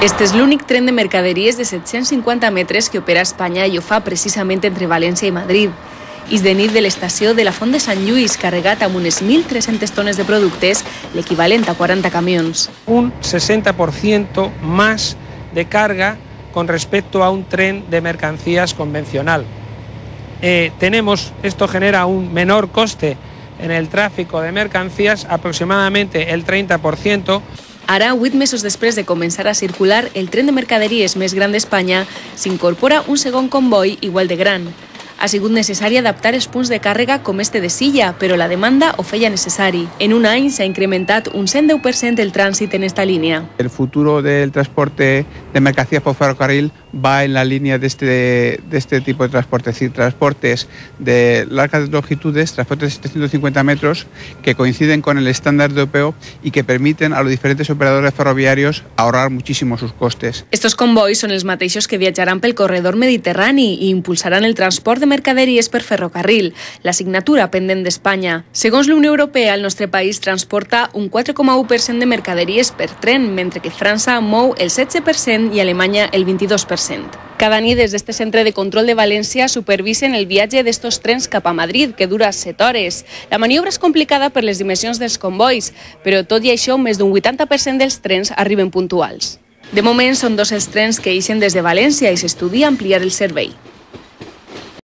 Este és l'únic tren de mercaderies de 750 metres que opera a Espanya i ho fa precisament entre València i Madrid. És de nit de l'estació de la Font de Sant Lluís, carregat amb unes 1.300 tones de productes, l'equivalent a 40 camions. Un 60% más de carga con respecto a un tren de mercancías convencional. Esto genera un menor coste en el tráfico de mercancías, aproximadamente el 30%. Ara, 8 mesos després de començar a circular, el tren de mercaderies més gran d'Espanya s'incorpora un segon comboi igual de gran. Ha sigut necessari adaptar els punts de càrrega com este de Silla, però la demanda ho feia necessari. En un any s'ha incrementat un 110% el trànsit en esta línia. El futuro del transporte de mercancías por ferrocarril va en la línea de este tipo de transporte, es decir, transportes de largas longitudes, transportes de 750 metros, que coinciden con el estándar europeo y que permiten a los diferentes operadores ferroviarios ahorrar muchísimo sus costes. Estos convois són els mateixos que viatjaran pel corredor mediterrani i impulsaran el transport de mercaderies per ferrocarril, la signatura pendent d'Espanya. Segons la Unió Europea, el nostre país transporta un 4,1% de mercaderies per tren, mentre que França mou el 16% i Alemanya el 22%. Cada nit des d'este centre de control de València supervisen el viatge d'estos trens cap a Madrid, que dura 7 hores. La maniobra és complicada per les dimensions dels convois, però tot i això més d'un 80% dels trens arriben puntuals. De moment són 2 els trens que ixen des de València i s'estudia ampliar el servei.